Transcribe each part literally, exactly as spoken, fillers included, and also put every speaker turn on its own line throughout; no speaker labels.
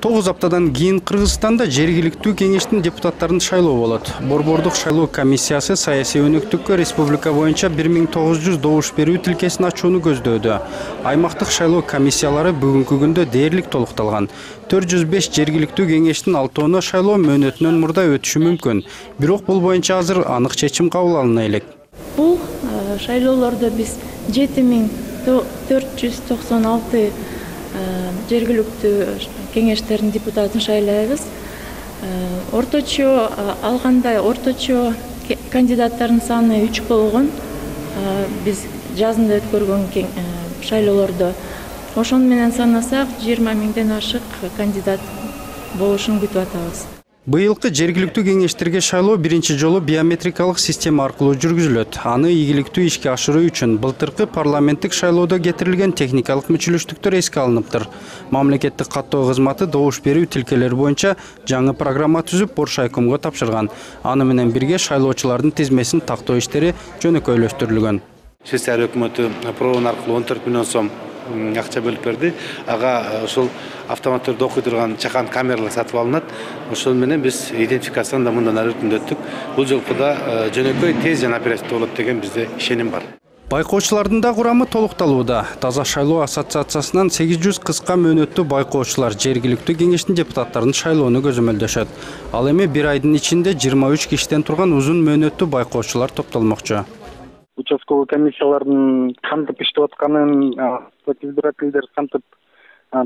тогуз аптадан кийин Кыргызстанда жергиликтүү кеңештин депутаттарын шайлоо болот. Борбордук шайлоо комиссиясы саясий өнөктүккө республика боюнча бир миң тогуз жүз добуш берүү тилкесин ачууну көздөөдө. Аймактык шайлоо комиссиялары бүгүнкү күндө дээрлик толукталган. төрт жүз беш жергиликтүү кеңештин алтоону шайлоо мөөнөтүнөн мурда өтүшү мүмкүн. Бирок бул боюнча азыр анык чечим кабыл алына элек.
Бул шайлоолордо биз жети миң төрт жүз токсон алты жергиликтүү кеңештердин депутатын шайлайбыз. Орточо алганда орточо кандидаттардын саны үч болгон. Биз жазында өткөргөн шайлоолордо ошону менен санасак жыйырма миңден ашык кандидат болушун күтүп атабыз.
Быйылкы жергиликтүү кеңештерге шайлоо биринчи жолу биометрикалык система аркылуу жүргүзүлөт. Аны ийгиликтүү ишке ашыруу үчүн былтыркы парламенттик шайлоодо кетирилген техникалык мүчүлүштүктөр эске алыныптыр. Мамлекеттик каттоо кызматы добуш берүү тилкелери боюнча жаңы программа түзүп Боршайкомго тапшырган. Аны менен бирге шайлоочулардын тизмесин тактоо иштери жөнөкөйлөштүрүлгөн.
Швейцария өкмөтү проон аркылуу он төрт миллион сом акча бөлүп берди. Ага ошол автоматтарды окуй турган чакан камералар сатып алынат. Ошол менен биз идентификацияны да мындан ары өркүндөттүк. Бул жолку да жөнөкөй, тез жана оперативдүү болот деген бизде ишеним бар.
Байкоочулардын да курамы толукталууда. Таза шайлоо ассоциациясынан сегиз жүз кыска мөөнөттүү байкоочулар жергиликтүү кеңештин депутаттарын шайлоону көзөмөлдөшөт. Ал эми бир айдын ичинде жыйырма үч кишиден турган узун мөөнөттүү байкоочулар топтолмокчу.
Участковый комиссиялардын кантип иштеп атканын, избирательдер кантип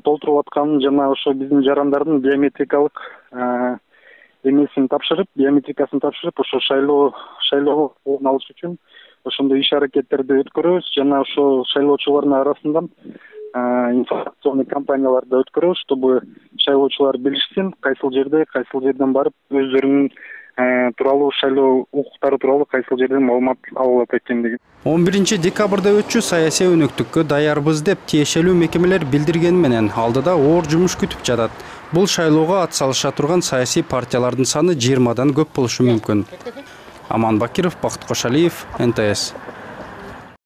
толтуруп атканын жана ошо биздин жарандардын биометрикалык эмесин тапшырып, биометрикасын тапшырып, ошо шайлоо шайлоо алыш үчүн ошондой иш аракеттерди өткөрөбүз жана ошо шайлоочулардын арасында информационный кампанияларды өткөрөбүз, чтобы шайлоочулар билишсин, кайсыл жерде, кайсыл жерден барып өздөрүнүн тууралуу шайлоо укуктары тууралуу кайсыл жерден маалымат алып экендиги.
он биринчи декабрда өтчү саясий өнөктүккө даярбыз деп тиешелүү мекемелер билдиргени менен алдыда оор жумуш күтүп жатат. Бул шайлоого ат салыша турган саясий партиялардын саны жыйырмадан көп болушу мүмкүн. Аман Бакиров, Бакыт Кошалиев, эн тэ эс.